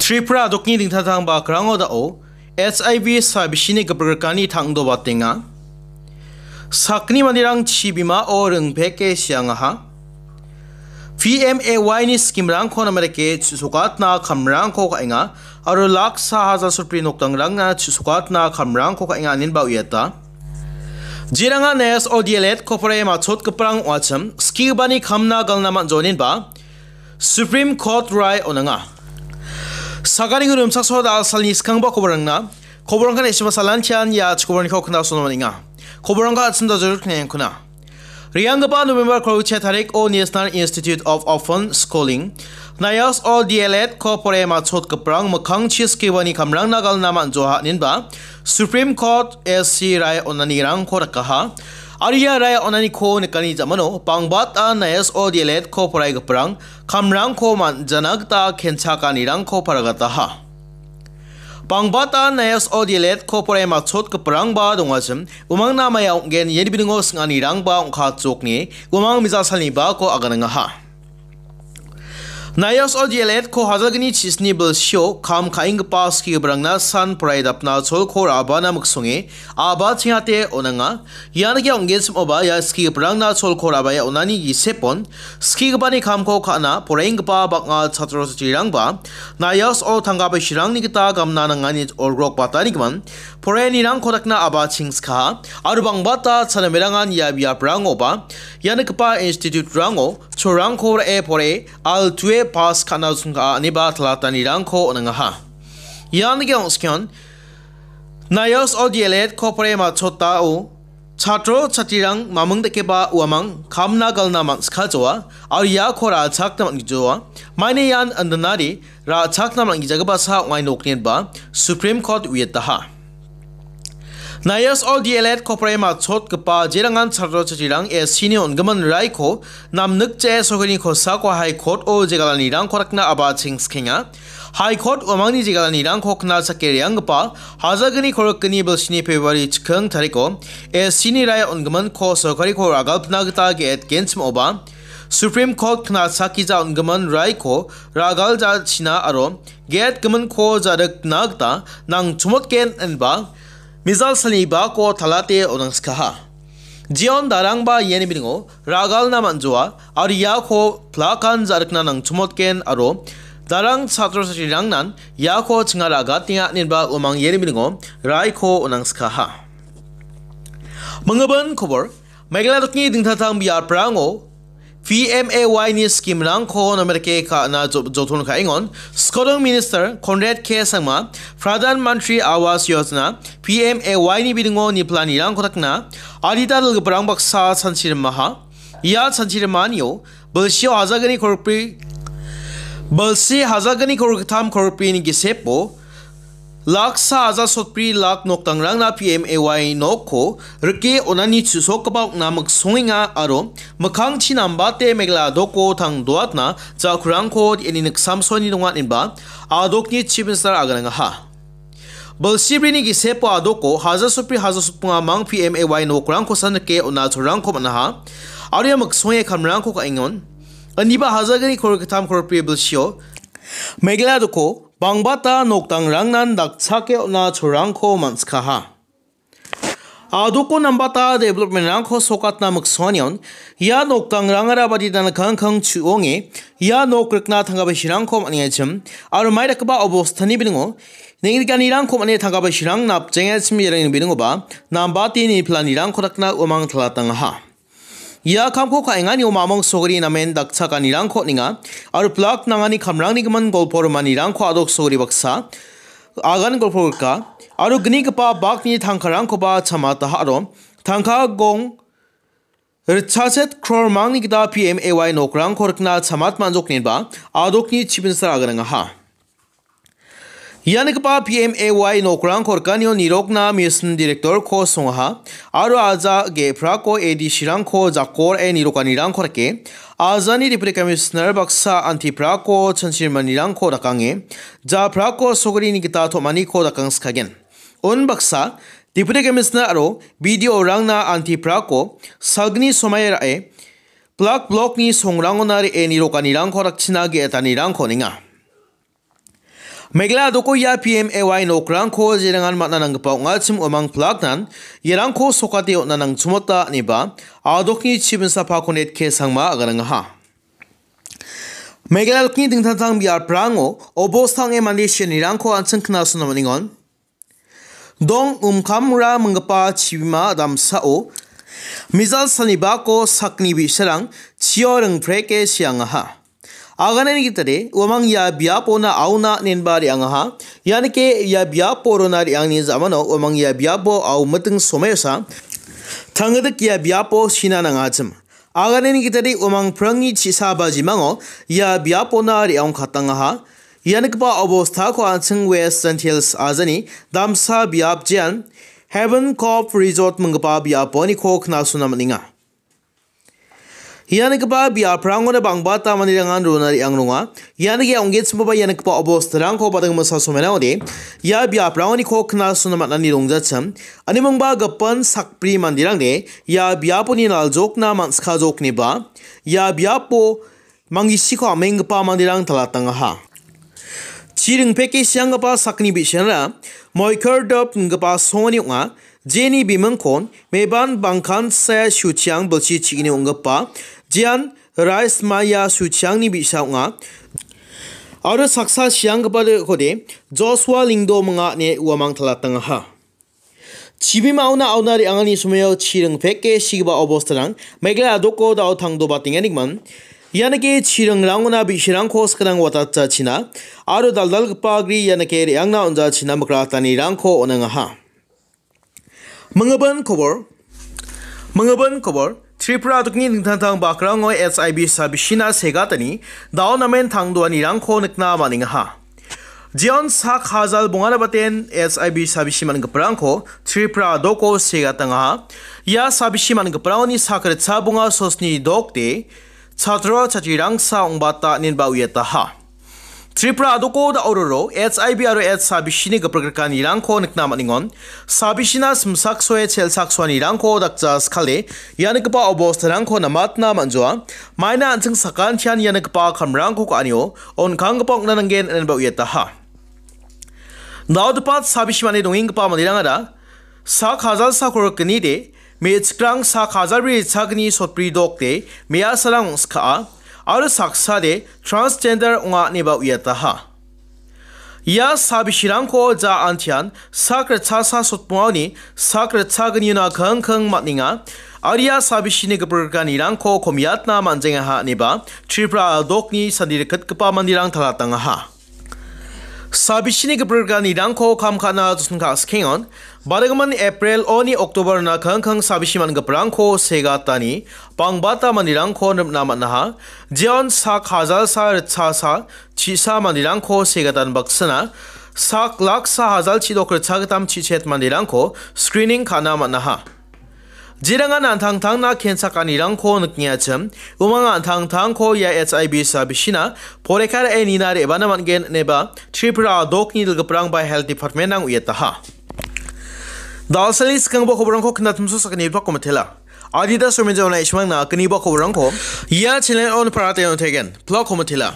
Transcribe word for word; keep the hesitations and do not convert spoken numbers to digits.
Tripura dokni dingtang dingtang bakrango dao H I V sabisini gipirgrikani tangdobatenga. Sakni manderang chibimao ringpeke siangaha. P M A Y ni skimrangko namerike chisokatna kamrangko ka·enga, aro laksa hajar sotbri nokdangrangna chisokatna kamrangko ka·enga inenba uiata. Jerangan N S O D L Ed kopore machotgiparang ong·achim, skigipani kamna galna man·joninba, Supreme Court rai on·anga. Sagani guru imsakso da salni skangba koborangna, koborangkan esima salantian ia chikoborangko kna sono maninga. Koborangka atsinda joruk ne kuna. Rianggipa November kolchi tarik o National Institute of Open Schooling, N I S O D L Ed ko pore machotgiparang mikkang chiskibani kamrangna galna man·joha ninba, Supreme Court S C rai on·anirangko rakaha. Aria rai on·aniko nikani jamano, bangbata N I S O D L Ed ko poraigiparang, kamrangko man·jana gita kenchakanirangko paragataha. Bangbata N I S O D L Ed ko porai machotgiparangba dongachim, umangna maia ong·gen iani bidingo sing·anirangba ong·kachokni, umang mijasalnibako aganangaha. N I S O D L Ed ko hajalgni chisni bilsio kam ka·enggipa skigiparangna san porai dapna cholko ra·bana miksonge aba chingate on·anga. Ian ge ong·genchim oba ia skigiparangna cholko ra·bae on·ani gisepon, skigipani kamko ka·na poraienggipa bang·a chatro chatrirangba N I S O tangka bisirangni gita gamna nangani olgrok batanigimin poraianirangko dakna aba chingskaha, aro bangbata chanamerangan ia biaprangoba, ia nikgipa institute-rango cholrangko ra·e pore, al tue pass ka·na sungka·a ineba talatanirangko on·angaha. Ian ge ong·skon, N I S O D L Ed ko pore machotao chatro chatrirang maming dakeba uamang kamna galna man·skajoa, aro iako ra·chakna man·gijoa. Maina ian indinari ra·chakna man·gijagipasa ong·ai nokninba Supreme Court uiataha. N I S O D L Ed ko pore machotgipa jerangan chatro chatrirang S C ni on·gimin raiko namnikjae sorkarini kosako High Court-o jegalanirangko rakna aba chingskenga. High Court uamangni jegalanirangko knalchake re·anggipa hajalgni korikgni bilsini February chiking tariko S C ni rai on·giminko sorkariko ragalpna gita ge·et genchim oba, Supreme Court knalchakgija on·gimin raiko ragalja china aro ge·et giminko ja·rikna gita nangchomotgen ineba mijal salnibako talate on·angskaha. Jeon darangba iani bidingo ragalna man·joa, aro iako plakan ja·rikna nangchomotgen aro darang chatro chatrirangnan iako chinga ra·gatenga ineba uamang iani bidingo raiko on·angskaha. Mingibin kobor, Meghalaya dokni dingtang dingtang biaprango P M A Y ni scheme-rangko namerike ka·na jo-, joton ka·engon, Skodong Minister Conrad K Sangma, Pradhan Mantri Awas Yojana, P M A Y ni bidingo niplanirangko dakna, adita dal·giparang baksa chanchirimaha. Ia chanchirimanio, bilsio hajalgni korikbri, bilsi hajalgni korikgittam korikbrini gisepo, laksa hajar sotbri lak nokdangrangna P M A Y nokko rike on·ani chu·sokgipa ong·na miksongenga aro mikkangchi nambate Meghalaya doko tangdoatna jakurangko de·eni niksamsoni donga ineba adokni Chief Minister aganangaha. Bilsibrini gisepo adoko hajar sotbri hajar sotbri mang P M A Y nokrangkosan rike on·a cholrangko man·aha. Aro ia miksonge kamrangko ka·engon. Indiba hajalgni korikgittam korikbri bilsio Meghalaya doko bangbata nokdangrangnan dakchake on·a cholrangko man·sikaha. Adoko nambata development-rangko sokatna miksonion, ia nokdangrangara baditana kangkang chu·onge, ia nok rikna tangka bisirangko man·engachim, aro mai dakgipa obostani bilingo, neng·rikanirangko man·e tangka bisirang napjengachim iarangni bilingoba, nambate niplanirangko dakna uamang talatangaha. Ia kamko ka·enganio mamung sogri namen dakchakanirangko on·enga, aro plak nangani kamrangni gimin golpo rimanirangko adok sogri baksa agan golpo rika, aro gnigipa bakni tangkarangkoba chamataha aro tangka gong ritchachet krormangni gita P M A Y nokrangko rikna chamat man·joknenba adokni Chief Minister aganangaha. Ia nikgipa P M A Y nokrangko rikanio nirokna mission director-ko songaha, aro aja ge·prako A D C-rangko jakko ra·e nirokanirangko rike, ajani deputy commissioner baksa antiprako chanchirimanirangko dakange, japrako sogrini gita tom·aniko dakangskagen. Unbaksa, deputy commissioner aro B D O-rangna antiprako salgni somai ra·e, plak blokni songrangona re·e nirokanirangko dakchina ge·etanirangko on·enga. Meghalaya a·doko ia P M A Y nokrangko jerangan man·a nanggipa ong·achim uamang plaknan iarangko sokate on·na nangchimota ineba a·dokni chibinsa Pakonet K Sangma aganangaha. Meghalaya a·dokni dingtang dingtang biaprango obosta ong·e mande sianirangko an·ching knasona man·engon. Dong Umkamra minggipa chibima damsao mijal salnibako sakni bi·sarang chio ringpreke siangaha. Aganani gitade, uamang ia biapona aona inenba re·angaha. Ianike ia biapo rona re·angni ja·mano uamang ia biapo au miting someosa tanggidik ia biapo sina nangachim. Aganani gitade uamang prangni chisa bajimango ia biapona re·angkatangaha. Ia nikgipa obostako an·ching West Jaintia Hills ajani damsa biap jean Heaven Cove Resort minggipa biaponiko knasona man·enga. Ia nikgipa biaprangona bang·bata manderangan rona re·ang ronga. Ianike ong·genchimaba ia nikgipa obostarangko bading misa somenao de ia biaprangoniko knasona man·ani rongjachim. Animingba gipin sakbri manderangde ia biaponi naljokna man·sikajokniba ia biapo mangisiko am·enggipa manderang talatangaha. Chi ringpeke sianggipa sakni bi·sarangara Moikerdop inggipa songoni ong·a. Jeni bimingkon Meban Bangkansa Suchiang bilsi chigini ong·gipa Jean Rais Maya Suchiangni bi·sa ong·a. Aro saksa sianggipa de·okode Joshua Lingdo minga ine uamang talatangaha. Chibimaona aona re·angani somao chi ringpeke sigipa obostarang Meghalaya a·doko dao tangdobatenganigman. Ianike chiringrangona bi·sarangko skang watatjachina aro daldalgipa gri ianike re·angna on·jachina mikratanirangko on·angaha. Mingibin kobor. Mingibin kobor. Tripura a·dokni dingtang dingtang bakrango H I V sabisina segatani dao namen tangdoanirangko nikna man·engaha. Jeon sak hajal bongarabaten H I V sabisi man·giparangko Tripura a·doko segatangaha. Ia sabisi man·giparangoni sak ritsa bonga sosni dokde chatro chatrirangsa ong·bata inenba uiataha. Tripura a·doko da·ororo H I V aro H sabisini giprikanirangko nikna man·engon. Sabisina simsaksoe chelsaksoanirangko dakja skale ia nikgipa obostarangko namatna man·joa. Maina an·ching sakantian ia nikgipa kamrangko ka·anio on·kanggipa ong·na nanggen inenba uiataha. Daodipat sabisi mane dongenggipa manderangara sak hajal sak rikgni de, me·chikrang sak hajal bri ritchagni sotbri dokde, me·asarang ong·skaa, aro saksade transgender ong·a ineba uiataha. Ia sabisirangko ja antian sak ritchasa sotbongani sak ritchagniona kingking man·enga, aro ia sabisini giprikanirangko komiatna man·jengaha ineba Tripura a·dokni sandi rikgitgipa manderang talatangaha. Sabisini giprikanirangko kam ka·na josen ka·sikengon, badigimin April oni October-na kingking sabisi man·giparangko segatani bangbata manderangko rimna man·aha. Jeon sak hajalsa ritchasa chisa manderangko segatan baksana, sak laksa hajal chidok ritchagittam chichet manderangko screening ka·na man·aha. Jerangan an·tangtangna kensakanirangko nikengachim, umang an·tangtangko ia H I V sabisina porekar e nina re·bana man·gen ineba Tripura a·dokni dilgiprang ba Health Department-rang uiataha. Dalsali skanggipa koborangko knatimso sakani blog komitela. Adidas Romenja ona ismangna kniba koborangko ia channel on parate on tegen blog komitela.